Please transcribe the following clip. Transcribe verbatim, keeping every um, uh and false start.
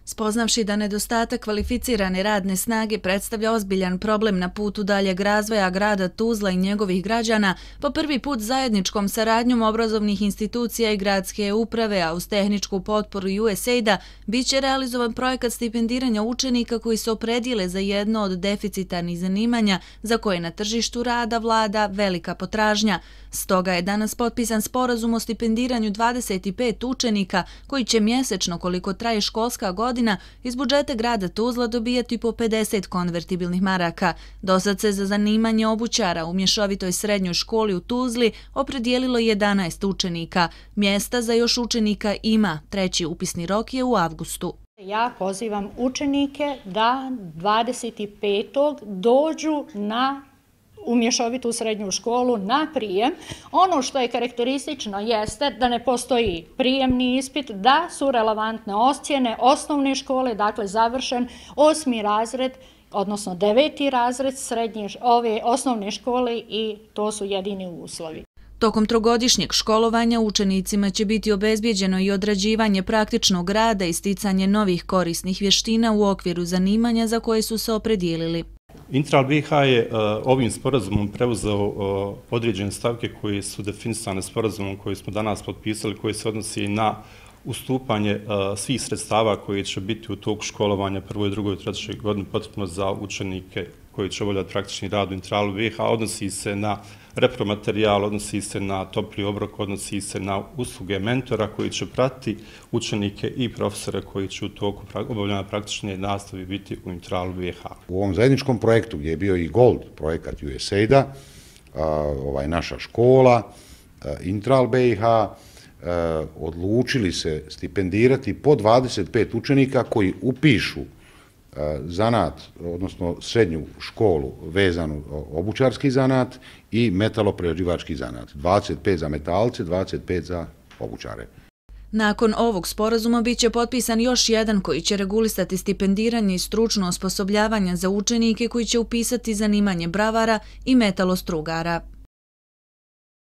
Spoznavši da nedostatak kvalificirane radne snage predstavlja ozbiljan problem na putu daljeg razvoja grada Tuzla i njegovih građana, po prvi put zajedničkom saradnjom obrazovnih institucija i gradske uprave, a uz tehničku potporu U S A I D-a, bit će realizovan projekat stipendiranja učenika koji se opredijele za jedno od deficitarnih zanimanja za koje na tržištu rada vlada velika potražnja. Stoga je danas potpisan sporazum o stipendiranju dvadeset pet učenika koji će mjesečno, koliko traje školska godina, iz budžeta grada Tuzla dobijati po pedeset konvertibilnih maraka. Dosad se za zanimanje obućara u mješovitoj srednjoj školi u Tuzli opredijelilo jedanaest učenika. Mjesta za još učenika ima, treći upisni rok je u avgustu. Ja pozivam učenike da dvadeset petog dođu na u mješovitu srednju školu na prijem. Ono što je karakteristično jeste da ne postoji prijemni ispit, da su relevantne ocjene osnovne škole, dakle završen osmi razred, odnosno deveti razred srednje ove osnovne škole i to su jedini uslovi. Tokom trogodišnjeg školovanja učenicima će biti obezbijeđeno i odrađivanje praktičnog rada i sticanje novih korisnih vještina u okviru zanimanja za koje su se opredijelili. Intral B H je uh, ovim sporazumom preuzeo uh, određene stavke koje su definisane sporazumom koji smo danas potpisali, koji se odnosi na ustupanje uh, svih sredstava koje će biti u toku školovanja prvoj, drugoj, trećoj godini potrebno za učenike koji će obavljati praktični rad u Intralu B H, odnosi se na repromaterijal, odnosi se na topli obrok, odnosi se na usluge mentora koji će pratiti učenike i profesore koji će u toku obavljanja praktične nastave biti u Intralu B H. U ovom zajedničkom projektu gdje je bio i Gold projekat U S A I D-a, ovaj, naša škola, Intral B H, odlučili se stipendirati po dvadeset pet učenika koji upišu zanat, odnosno srednju školu vezanu obućarski zanat i metaloprerađivački zanat. dvadeset pet za metalce, dvadeset pet za obućare. Nakon ovog sporazuma bit će potpisan još jedan koji će regulisati stipendiranje i stručno osposobljavanje za učenike koji će upisati zanimanje bravara i metalostrugara.